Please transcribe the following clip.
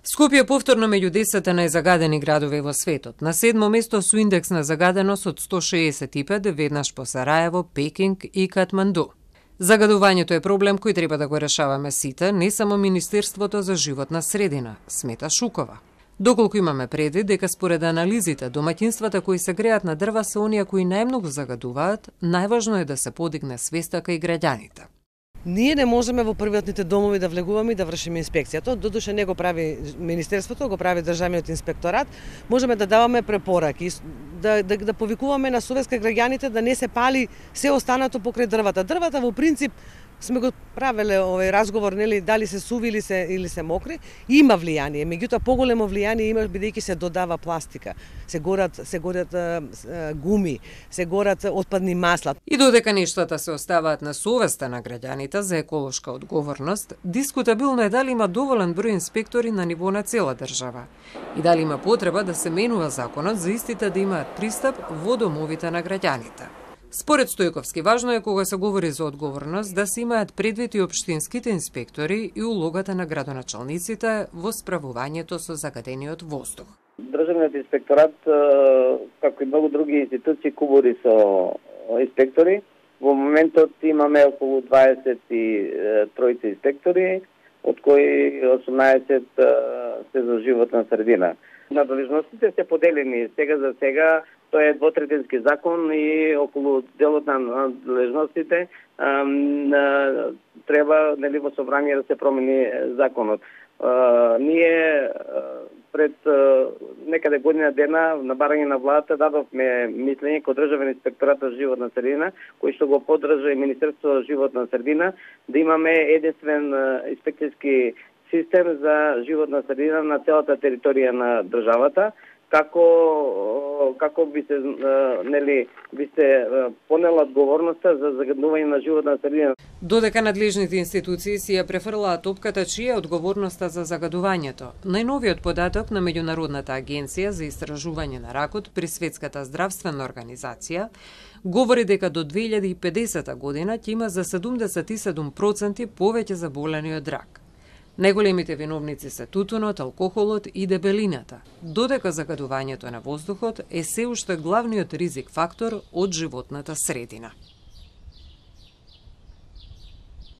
Скопје е повторно меѓу 10 најзагадени градови во светот. На 7 место со индекс на загаденост од 165, веднаш по Сараево, Пекинг и Катманду. Загадувањето е проблем кој треба да го решаваме сите, не само Министерството за животна средина, смета Шукова. Доколку имаме предвид дека според анализите домаќинствата кои се греат на дрва се оние кои најмногу загадуваат, најважно е да се подигне свеста кај граѓаните. Ние не можеме во приватните домови да влегуваме и да вршиме инспекција. Тоа додуше не го прави Министерството, го прави Државниот инспекторат. Можеме да даваме препораки, да повикуваме на совест кај граѓаните да не се пали се останато покрај дрвата. Дрвата во принцип сме го правеле овој разговор, нели, дали се суви или се мокри, има влијание, меѓутоа поголемо влијание има бидејќи се додава пластика, се горат гуми, се горат отпадни масла. И додека нештата се оставаат на совеста на граѓаните за еколошка одговорност, дискутабилно е дали има доволен број инспектори на ниво на цела држава и дали има потреба да се менува законот за истите да имаат пристап во домовите на граѓаните. Според Стојковски, важно е кога се говори за одговорност да се имаат предвид и општинските инспектори и улогата на градоначалниците во справувањето со загадениот воздух. Државниот инспекторат, како и многу други институции, кубори со инспектори. Во моментот имаме околу 23 инспектори, од кои 18 се за животна средина. Надлежностите се поделени сега за сега. Тоа е двотретински закон и околу делот на надлежностите треба, нели, во собрание да се промени законот. Ние пред некаде година дена на барање на владата дадовме мислење кон Државен инспекторат за животна средина, кој што го поддржа и Министерството за животна средина, да имаме единствен инспекцијски систем за животна средина на целата територија на државата, како би се понела одговорноста за загадување на животна средина. Додека надлежните институции си ја префрлаат топката чија е одговорноста за загадувањето, најновиот податок на Меѓународната агенција за истражување на ракот при Светската здравствена организација говори дека до 2050 година ќе има за 77% повеќе заболени од рак. Најголемите виновници се тутунот, алкохолот и дебелината, додека загадувањето на воздухот е се уште главниот ризик фактор од животната средина.